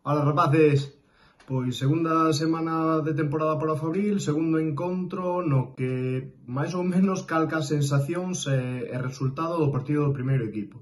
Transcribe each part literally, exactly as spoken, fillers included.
Ola rapaces, pois segunda semana de temporada para o Fabril, segundo encontro no que máis ou menos calca as sensacións e, e resultado do partido do primeiro equipo.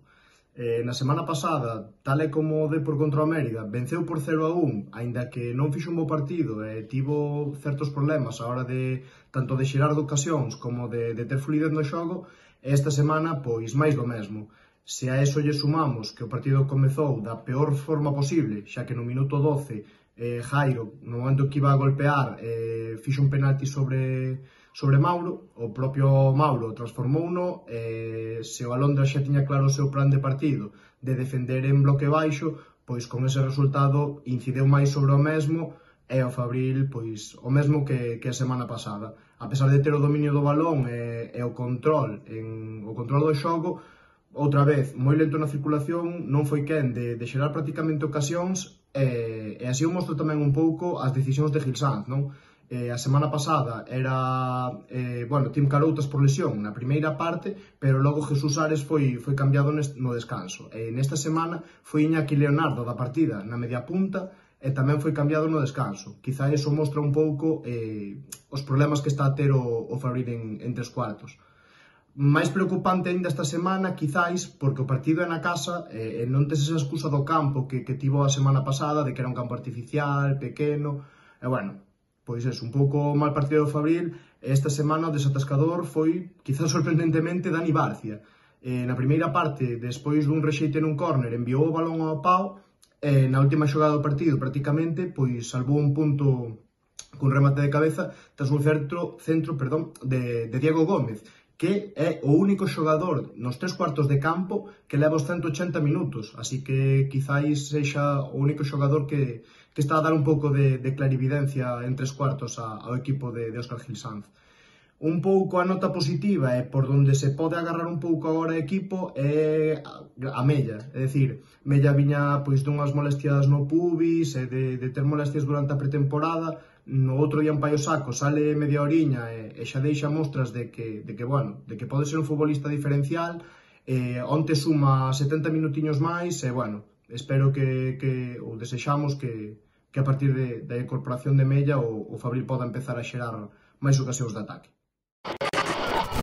Eh, na semana pasada, tal e como o Depor contra o Mérida, venceu por cero a un, aínda que non fixo un bo partido e tivo certos problemas a hora de tanto de xerar de ocasións como de, de ter fluidez no xogo, e esta semana, pois máis do mesmo. Se a eso lle sumamos que o partido comezou da peor forma posible, xa que no minuto doce eh, Jairo, no momento que iba a golpear, eh, fixo un penalti sobre, sobre Mauro, o propio Mauro transformouno, eh, se o Alondra xa tiña claro o seu plan de partido de defender en bloque baixo, pois con ese resultado incideu máis sobre o mesmo e o Fabril, pois, o mesmo que, que a semana pasada. A pesar de ter o dominio do balón e, e o control, en, o control do xogo, outra vez, moi lento na circulación, non foi quen de, de xerar prácticamente ocasións e, e así o mostro tamén un pouco as decisións de Gil Sanz, non? Eh, a semana pasada era, eh, bueno, Tim Caroutas por lesión na primeira parte, pero logo Jesús Ares foi, foi cambiado no descanso. E nesta semana foi Iñaki Leonardo da partida na media punta e tamén foi cambiado no descanso. Quizá iso mostra un pouco eh, os problemas que está a ter o, o Fabril en, en tres cuartos. Máis preocupante ainda esta semana, quizáis, porque o partido é na casa e, e non tes esa excusa do campo que, que tivo a semana pasada, de que era un campo artificial, pequeno, e bueno, pois é un pouco mal partido do Fabril, e esta semana o desatascador foi, quizás sorprendentemente, Dani Barcia. E, na primeira parte, despois dun rexeite nun córner, enviou o balón ao pau, e na última xogada do partido, prácticamente, pois salvou un punto cun remate de cabeza tras un centro, centro perdón, de, de Diego Gómez, que é o único xogador nos tres cuartos de campo que leva os ciento ochenta minutos, así que quizáis sexa o único xogador que, que está a dar un pouco de, de clarividencia en tres cuartos a, ao equipo de, de Óscar Gil Sanz. Un pouco a nota positiva e por donde se pode agarrar un pouco agora o equipo é a Mella, é dicir, Mella viña pois dunhas molestias no pubis e de, de ter molestias durante a pretemporada, no outro día en Paio Saco sale media oriña e, e xa deixa mostras de que, de que, bueno, de que pode ser un futbolista diferencial, e onte suma setenta minutiños máis e, bueno, espero que, que ou desexamos que, que a partir de, da incorporación de Mella o, o Fabril poda empezar a xerar máis ocasións de ataque.